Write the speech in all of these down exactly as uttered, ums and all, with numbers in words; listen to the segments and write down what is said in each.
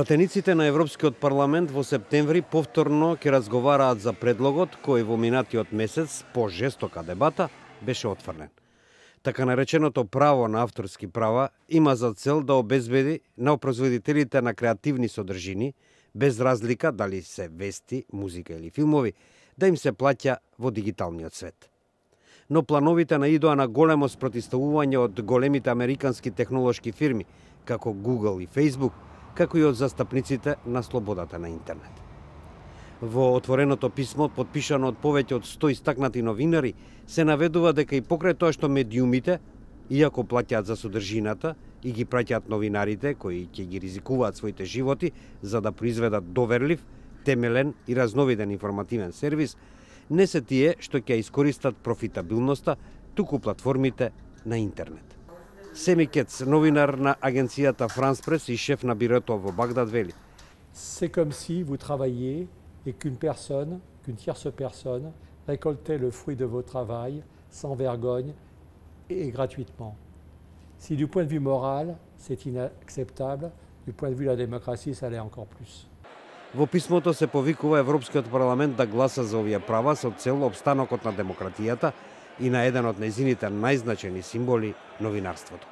Пратениците на Европскиот парламент во септември повторно ќе разговараат за предлогот кој во минатиот месец по жестока дебата беше отфрлен. Така нареченото право на авторски права има за цел да обезбеди на производителите на креативни содржини, без разлика дали се вести, музика или филмови, да им се плаќа во дигиталниот свет. Но плановите наидоа на големо спротивставување од големите американски технолошки фирми, како Google и Facebook, како и од застапниците на слободата на интернет. Во отвореното писмо, подпишано од повеќе од сто истакнати новинари, се наведува дека и покрај тоа што медиумите, иако плаќаат за содржината и ги праќаат новинарите кои ќе ги ризикуваат своите животи за да произведат доверлив, темелен и разновиден информативен сервис, не се тие што ќе искористат профитабилноста, туку платформите на интернет. Семи Кец, новинар на агенцијата France Press и шеф на бирото во Багдад, вели: C'est comme si vous travailliez et qu'une personne, qu'une tierce personne récoltait le fruit de votre travail sans vergogne et gratuitement. Si du point de vue moral, c'est inacceptable, du point de vue de la démocratie, ça l'est encore plus. Во писмото се повикува Европскиот парламент да гласа за овие права со цел обстанокот на демократијата и на еден од нејзините најзначени символи – новинарството.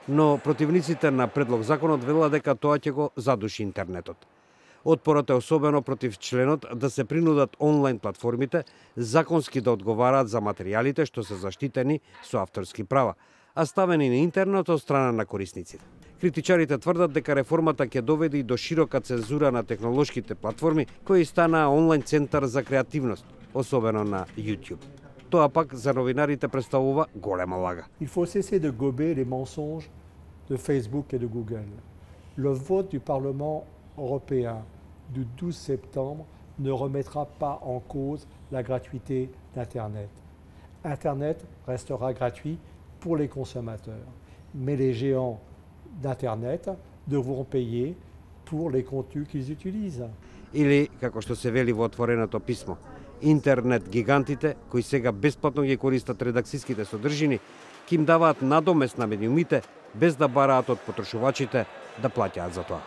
Но противниците на предлог законот велат дека тоа ќе го задуши интернетот. Отпорот е особено против членот да се принудат онлайн платформите законски да одговараат за материјалите што се заштитени со авторски права, а ставени на интернет од страна на корисниците. Критичарите тврдат дека реформата ќе доведе и до широка цензура на технолошките платформи кои станаа онлайн центар за креативност, особено на YouTube. Тоа пак за новинарите представува голема лага. Il faut cesser de gober les mensonges de Facebook et de Google. Le vote du Parlement européen du douze septembre ne remettra pas en cause la gratuité d'Internet. Internet restera gratuit pour les consommateurs, mais les géants d'Internet devront payer pour les contenus qu'ils utilisent. Или, како што се вели во отвореното писмо, интернет гигантите, кои сега бесплатно ги користат редакцијските содржини, ќе им даваат надомест на медиумите, без да бараат од потрошувачите да плаќаат за тоа.